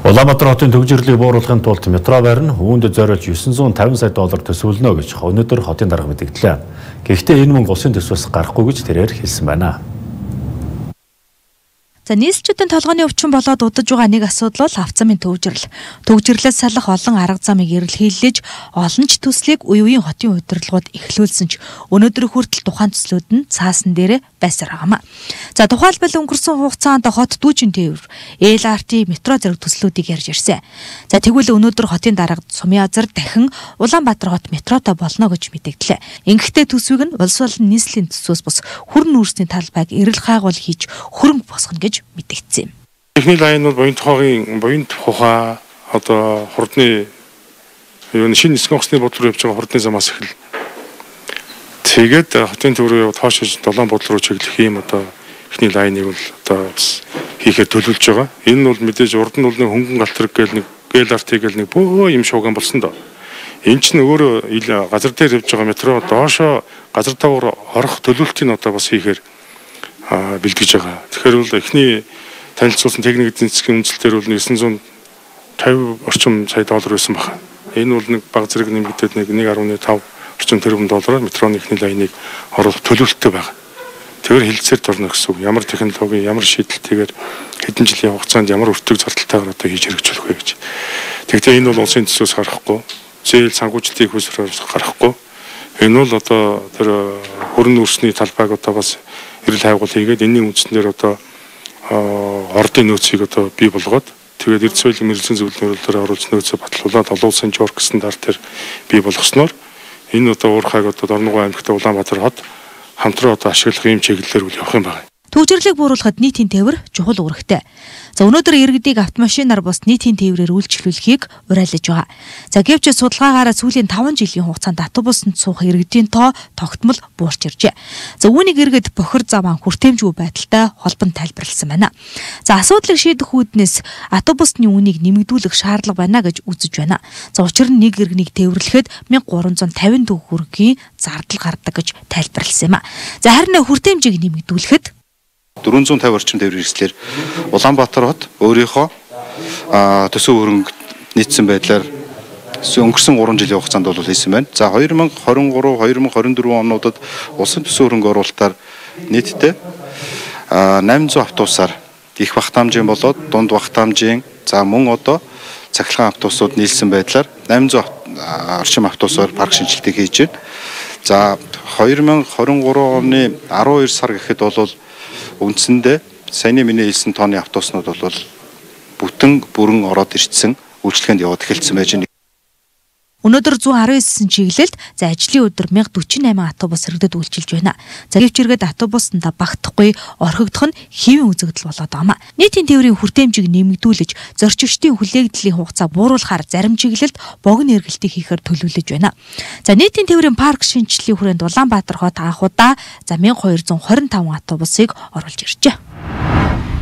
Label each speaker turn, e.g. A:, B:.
A: Улаанбаатар хотын төгжрлийг бууруулахын тулд метро байр нь үүнд зориулж $950 сая төсвөлнө гэж өнөөдөр хотын дарга мэдгдлээ. Гэхдээ энэ мөнгө улсын төсвөөс гарахгүй гэж тэрээр хэлсэн байна.
B: За нийслэлчүүдийн толгойн өвчин болоод удаж байгаа нэг асуудал бол авцамын төвжирэл. Төвжирлээс салах олон арга замыг эрэлхийлж, олон ч төслийг үе үеийн хотын удирдлагууд эхлүүлсэн ч өнөөдөр хүртэл тухайн төслүүд нь цаасан дээрээ байсаар байгаамаа. За тухайлбал өнгөрсөн хугацаанд хот дүүжин тээвэр, LRT, метро зэрэг төслүүдийг ярьж ирсэн. За тэгвэл өнөөдөр хотын дарга Сумьязар дахин Улаанбаатар хот метротой болно гэж мэдэгдлээ. Ингэхдээ төсвийг нь улс болон нийслэлийн төсвөөс бус хүрэн үүрсний талбайг эрэл хайгуул хийж хөрөнгө босгоно гэж мэдэгдсэн юм.
C: Техник лайн бол буян тухай одоо хурдны шинэ нисгэн усны бодлого явж байгаа хурдны замаас эхэл. Тэгээд хотын төв рүү тоошиж долоон бодлого руу чиглэх юм одоо эхний лайныг бол одоо хийхээр төлөвлөж байгаа. Энэ нь бол мэдээж урд нь бол нэг хөнгөн галтраг гээл нэг LRT гээл нэг бөө юм шууган болсон доо. Энэ чинь өөрөө газар дээр явж байгаа метро доошоо газар тавар орох төлөвлөлтийг одоо бас хийхээр бэлтгэж байгаа. Тэгэхээр бол эхний танилцуулсан техник эдийн засгийн үнэлтээр бол $950 орчим сая байсан байна. Энэ бол нэг баг зэрэг нэмэгдээд нэг 1.5 орчим тэрбум доллараар метроны эхний лайныг оруулах төлөвлөлттэй байгаа. Тэгэхээр хэлэлцээр дорно гэсэн үг. Ямар технологи, ямар шийдэлтэйгээр хэдэн жилийн хугацаанд ямар өртөг зардалтайгаар одоо хийж хэрэгжүүлэх вэ гэж. Тэгвэл энэ бол улсын төсвөөс гарахгүй, зээл санхүүжилтийн хөлсрөөс гарахгүй. Энэ бол одоо тэр хөрөн үүрсний талбайг одоо бас эрэл хайгуул хийгээд энэний үндснээр одоо ордын нөөцийг одоо бий болгоод тэгээд эрдэс соёлын мэргэжлийн зөвлөлөөр оруулж нөөцөө батлуулаад олон улсын журк стандартаар бий болгосноор энэ одоо уурхайг одоо Дорногов аймагт Улаанбаатар хот хамтран одоо ашиглах юм чиглэлээр үл явах юм байна.
B: Төвжирлийг бууруулахад нийтийн тээвэр чухал үүрэгтэй. За өнөөдөр иргэдийг автомашинаар бус нийтийн тээврээр үйлчлүүлэхийг уриалж байгаа. За гэвч судалгаагаараа сүүлийн 5 жилийн хугацаанд автобусанд суух иргэдийн тоо тогтмол буурч иржээ. За үүнийг иргэд бохир заван хүртээмжгүй байдалтай холбонд тайлбарласан байна. За асуудлыг шийдэх үүднээс автобусны үнийг нэмэгдүүлэх шаардлага байна гэж үзэж байна. За учир нь нэг иргэнийг тээвэрлэхэд $1350 төгрөгийн зардал гардаг гэж тайлбарласан юм а. За харин хүртээмжийг нэмэгдүүлэхэд
D: 450 орчим тээврийн хэрэгслэр Улаанбаатар хот өөрийнхөө төсөв хөрөнгө нийцсэн байдлаар өнгөрсөн 3 жилийн хугацаанд бол хийсэн байна. За 2023-2024 онуудад улсын төсөв хөрөнгө оруулалтаар нийтдээ 800 автобусаар их багтаамжийн болоод дунд багтаамжийн за мөн одоо цахилгаан автобусууд нийлсэн байдлаар 800 орчим автобусаар парк шинжилтийг хийж байна. За 2023 оны 12 сар гэхэд бол үндсэндээ саяны миний хэлсэн тооны автобуснууд бол бүрэн ороод ирсэн үйлчлэгэнд яваад эхэлсэн байж байна.
B: Өнөөдөр 119 чиглэлд за ажлын өдөр 1048 автобус хэрэгдэд үйлчилж байна. За гэвч иргэд автобусанд багтахгүй орхигдох нь хэвийн үзэгдэл болоод байгаа. Нийтийн тээврийн хүртээмжийг нэмэгдүүлж зорчигчдын хүлээгдлийн хугацаа бууруулахаар зарим чиглэлд богино эргэлтийг хийхээр төлөвлөж байна. За нийтийн тээврийн парк шинжиллийн хүрээнд Улаанбаатар хот анхудаа за 1225 автобусыг оруулж иржээ.